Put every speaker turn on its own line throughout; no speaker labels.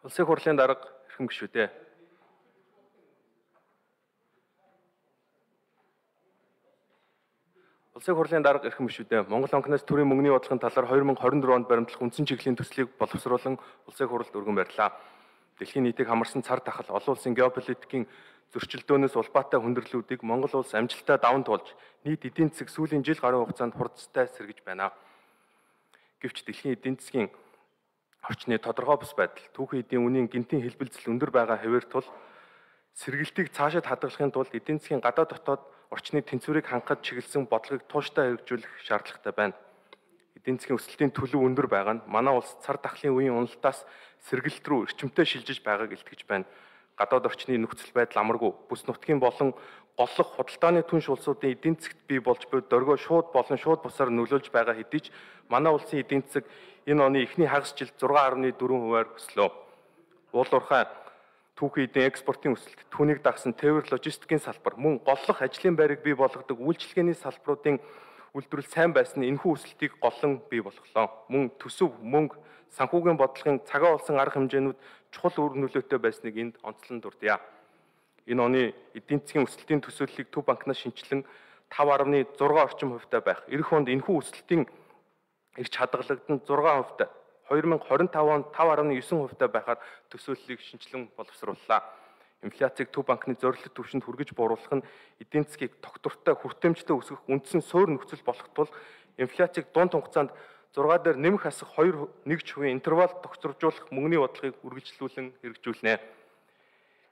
Улсын хурлын дарга эрхэм гишүүдээ. Улсын хурлын дарга эрхэм гишүүдээ. Монгол онкноос төрийн мөнгөний бодлогын талаар 2024 онд баримтлах үндсэн чиглэлийн төслийг боловсруулан улсын хурлд өргөн барьлаа. Дэлхийн нийтийг хамарсан цар тахал олон улсын геополитикийн зөрчилдөөнөөс улбаатай хүндрэлүүдийг Монгол улс амжилттай даван туулж нийт эдийн засаг сүүлийн жил гаруй хугацаанд хурдтай сэргэж байна. Гэвч дэлхийн эдийн засгийн орчны тодорхой бус байдал, түүхэн эдийн үнийн гинтийн хэлбэлзэл өндөр байгаа хэвээр тул сэргэлтийг цаашид хадгалахын тулд эдийн засгийн гадаад дотоод орчны тэнцвэрийг хангахад чиглэсэн бодлогыг тууштай хэрэгжүүлэх шаардлагатай байна. Эдийн засгийн өсөлтийн төлөв өндөр байгаа нь манай улс цар тахлын үеийн уналтаас сэргэлт рүү эрчимтэй шилжиж байгааг илтгэж байна. Гадаад орчны нөхцөл байдал амаргүй, бүс нутгийн болон голлох худалдааны түнш улсуудын эдийн засгт бий болж буй дөргөө шууд болон шууд бусаар нөлөөлж байгаа хэдий ч манай улсын эдийн засаг энэ оны эхний хагас жилд 6.4%-аар өслөө. Уул уурхай түүхэн эдийн экспортын өсөлт, түүнийг дагсан тээвэр логистикийн салбар, мөн голлох ажлын байрыг бий болгодог үйлчилгээний салбаруудын үйлдвэрлэл сайн байсан нь энэхүү өсөлтийг голлон бий болголоо. Мөн төсөв, мөнгө, санхүүгийн бодлогын цагаан болсон арга хэмжээнүүд чухал үр нөлөөтэй байсныг энд онцлон дурдъя. Энэ оны эдийн засгийн өсөлтийн төсөөллийг Төв банкнаас шинжилэн 5.6 орчим хувьтай байх. Эх онд энэхүү өсөлтийн эрч хадгалагдсан 6%, 2025 онд 5.9% байхаар төсөөллийг шинжилэн боловсрууллаа. Инфляцийг Төв банкны зорилт түвшинд хүргэж бууруулах нь эдийн засгийг тогтвортой хүртээмжтэй өсгөх үндсэн суурь нөхцөл болох тул инфляцийг дунд хугацаанд 6 дээр нэмэх асах 2.1% интервал тогтворжуулах мөнгөний бодлогыг үргэлжлүүлэн хэрэгжүүлнэ.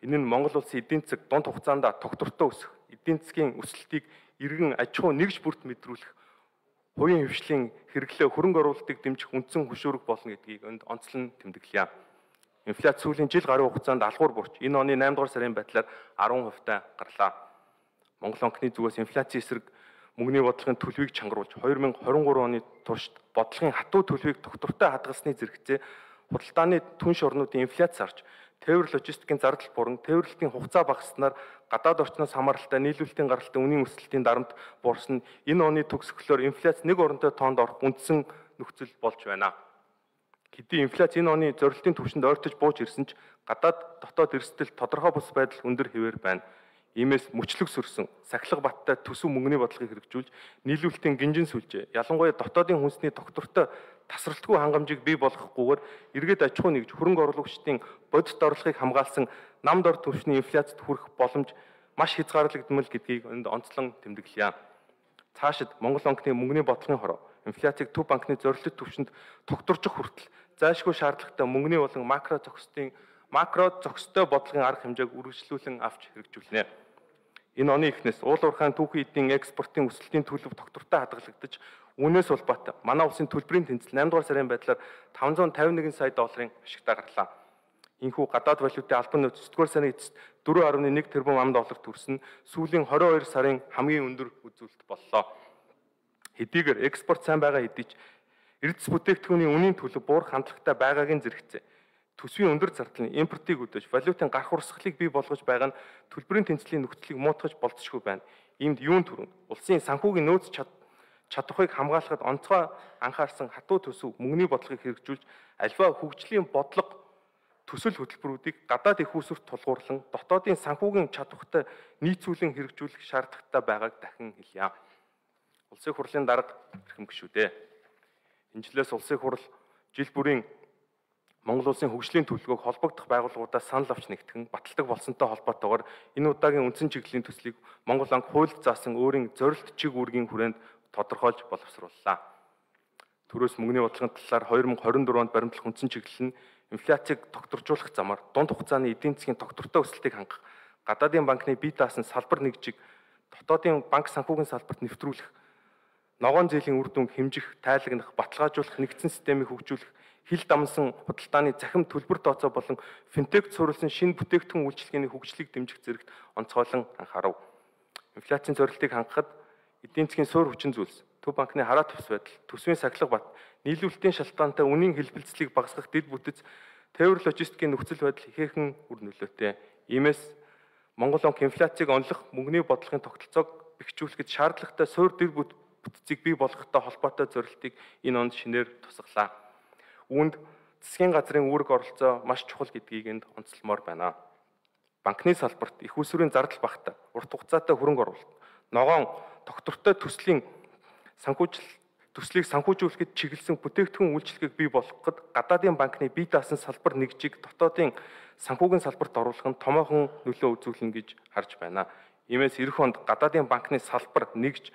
Энэ нь Монгол улсын эдийн засаг дунд хугацаанд тогтвортой өсөх, эдийн засгийн өсөлтийг иргэн аж ахуй нэгж бүрт мэдрүүлэх, хувийн хвшлийн хэрэглээ хөрөнгө оруулалтыг дэмжих үндсэн хөшүүрэг болно гэдгийг энд онцлон тэмдэглэе. Инфляц сүүлийн жил гаруй хугацаанд алхуур бурч энэ оны 8 дугаар сарын байдлаар 10%-тай гарлаа. Монгол онкны зүгээс инфляцийн эсрэг мөнгөний бодлогын төлөвийг чангаруулж 2023 оны туршид бодлогын хатуу төлөвийг тогтвортой хадгалсны зэрэгцээ худалдааны түнш орнуудын инфляц зарж, тээвэр логистикийн зардал буран, тээвэрлэлтийн хугацаа багаснаар гадаад орчноос хамааралтай нийлүүлэлтийн гаралтай үнийн өсөлтийн дарамт буурсан нь энэ оны төгсгөлөөр инфляц нэг оронтой тоонд орох үндсэн нөхцөл болж байна. Хэдий инфляц энэ оны зорилтын түвшинд ойртож бууж ирсэн ч гадаад дотоод эрсдэл тодорхой бус байдал өндөр хэвээр байна. Иймээс мөчлөг сөрсөн, сахилга баттай төсөв мөнгөний бодлогыг хэрэгжүүлж, нийлүүлэлтийн гинжин сүлжээ, ялангуяа дотоодын хүнсний тогтвортой тасралтгүй хангамжийг бий болгохгүйгээр эргээд аж ахуй нэгж хөрөнгө оруулагчдын бодит орлогыг хамгаалсан намд ор түвшний инфляцид хүрэх боломж маш хязгаарлагдмал гэдгийг энд онцлон тэмдэглэе. Цаашид Монгол онкны мөнгөний бодлогын хороо, инфляцийг Төв банкны зорилт түвшинд тогтворчих хүртэл зайлшгүй шаардлагатай мөнгөний болон макро зохистой бодлогын арга хэмжээг үргэлжлүүлэн авч хэрэгжүүлнэ. Энэ оны эхнээс уул уурхайн түүхэн эдийн экспортын өсөлтийн төлөв тогтвортой хадгалагдаж, үүнээс улбаатай манай улсын төлбөрийн тэнцэл 8 дугаар сарын байдлаар 551 сая долларын ашигтай гарлаа. Энэхүү гадаад валютын албан нөөц 9 дугаар сарын эцэст 4.1 тэрбум ам доллар төрсөн сүүлийн 22 сарын хамгийн өндөр үзүүлэлт боллоо. Хэдийгээр экспорт сайн байгаа хэдий ч эрдэс бүтээгдэхүүний үнийн төлөв буурах хандлагатай байгаагийн зэрэгцээ төсвийн өндөр зардлын импортыг өдөөж валютын гарах урсгалыг бий болгож байгаа нь төлбөрийн тэнцлийн нөхцөлийг муутгаж болцсохгүй байна. Иймд юун төрөнд улсын санхүүгийн нөөц чадварыг хамгаалахад онцгой анхаарсан хатуу төсөв мөнгөний бодлогыг хэрэгжүүлж альва хөгжлийн бодлого төсөл хөтөлбөрүүдийг гадаад их усүрт тулгуурлан дотоодын санхүүгийн чадвартай нийцүүлэн хэрэгжүүлэх шаардлагатай байгааг дахин хэлье. Улсын хурлын дарга эрхэм гишүүдээ. Энэ жилээс улсын хурл жил бүрийн Монгол улсын хөгжлийн төлөвлөгөөг холбогдох байгууллагуудаас санал авч нэгтгэн баталдаг болсонтой холбоотойгоор энэ удаагийн үндсэн чиглэлийн төслийг Монгол анги хуульд заасан өөрийн зорилт чиг үүргийн хүрээнд тодорхойлж боловсрууллаа. Төрөөс мөнгөний бодлогын талаар 2024 онд баримтлах үндсэн чиглэл нь инфляцийг тогтворжуулах замаар дунд хугацааны эдийн засгийн тогтвортой өсөлтийг хангах, гадаадын банкны бие даасан салбар нэгжийг дотоодын банк санхүүгийн салбарт нэвтрүүлэх, ногоон зээлийн үр дүнг хэмжих, тайлагнах, баталгаажуулах нэгдсэн системийг хөгжүүлэх, хил дамсан худалдааны захим төлбөр тооцоо болон финтек суурилсан шинэ бүтээгдэхүүн үйлчилгээний хөгжлийг дэмжих зэрэгт онцгойлон анхаарав. Инфляцийн зорилтыг хангахад эдийн засгийн суурь хүчин зүйлс, Төв банкны хараа тус байдал, төсвийн сахилга бат, нийлүүлэлтийн шалтгаантай үнийн хэлбэлцлийг багасгах дэд бүтц, тээвэр логистикийн нөхцөл байдал ихээхэн үр нөлөөтэй. Иймээс Монгол онк инфляцийг онлох мөнгөний бодлогын тогтолцоог бэхжүүлэхэд шаардлагатай суурь дэд бүтцийг бий болгохтой холбоотой зорилтыг энэ онд шинээр тусгалаа. Үүнд засгийн газрын үүрэг оролцоо маш чухал гэдгийг энд онцлмоор байна. Банкны салбарт их усүрийн зардал багтаа, урт хугацаатай хөрөнгө оруулалт, ногоон тогтвортой төслийг санхүүжүүлэхэд чиглэсэн бүтээгдэхүүн үйлчилгээг бий болгоход гадаадын банкны бие даасан салбар нэгжийг дотоодын санхүүгийн салбарт оруулах нь томоохон нөлөө үзүүлнэ гэж харж байна. Иймээс эх онд гадаадын банкны салбар нэгж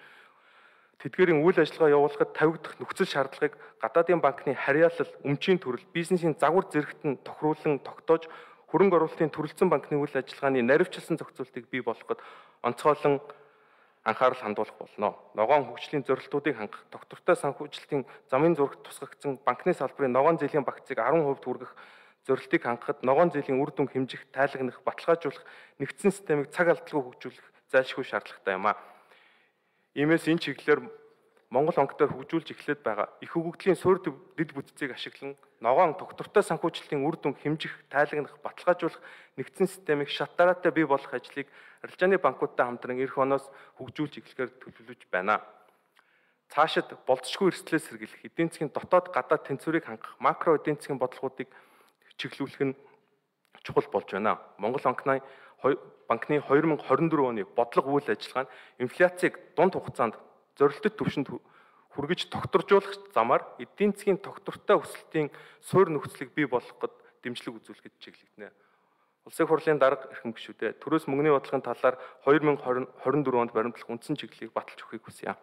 тэдгээрийн үйл ажиллагаа явуулахад тавигдах нөхцөл шаардлагыг гадаадын банкны харьяалал, өмчийн төрөл, бизнесийн загвар зэрэгт нь тохируулан тогтоож хөрөнгө оруулалтын төрөлцсөн банкны үйл ажиллагааны наривчлсан зохицуултыг бий болгоход онцгойлон анхаарал хандуулах болно. Ногоон хөгжлийн зорилтуудыг хангах, тогтвортой санхүүжилтийн замын зурагт тусгагдсан банкны салбарын ногоон зээлийн багцыг 10% хүргэх зорилтыг хангахад ногоон зээлийн үр дүн хэмжих, тайлагнах, баталгаажуулах, нэгдсэн системийг цаг алдалгүй хөгжүүлэх зайлшгүй шаардлагатай юм а. Иймээс энэ чиглэлээр Монгол банкнаар хөгжүүлж эхлээд байгаа их хөгжлийн суурь дэд бүтцийг ашиглан ногоон тогтвортой санхүүжилтийн үр дүн хэмжих, тайлагнах, баталгаажуулах нэгдсэн системийг шат дараатай бий болгох ажлыг арилжааны банкудтай хамтран эх оноос хөгжүүлж эхлэхээр төлөвлөж байна. Цаашид болцсохгүй эрсдлээс сэргийлэх, эдийн засгийн дотоод гадаад тэнцвэрийг хангах, макро эдийн засгийн бодлогуудыг чиглүүлэх нь чухал болж байна. Монгол банкны 2024 оны бодлого үйл ажиллагаа нь инфляцийг дунд хугацаанд зорилттой түвшинд хүргэж тогтворжуулах замаар эдийн засгийн тогтвортой өсөлтийн суурь нөхцөлийг бий болгоход дэмжлэг үзүүлэхэд чиглэгдэнэ. Улсын хурлын дарга эрхэм гишүүдээ төрөөс мөнгөний бодлогын талаар 2024 онд баримтлах үндсэн чиглэлийг баталж өгөхийг хүсье.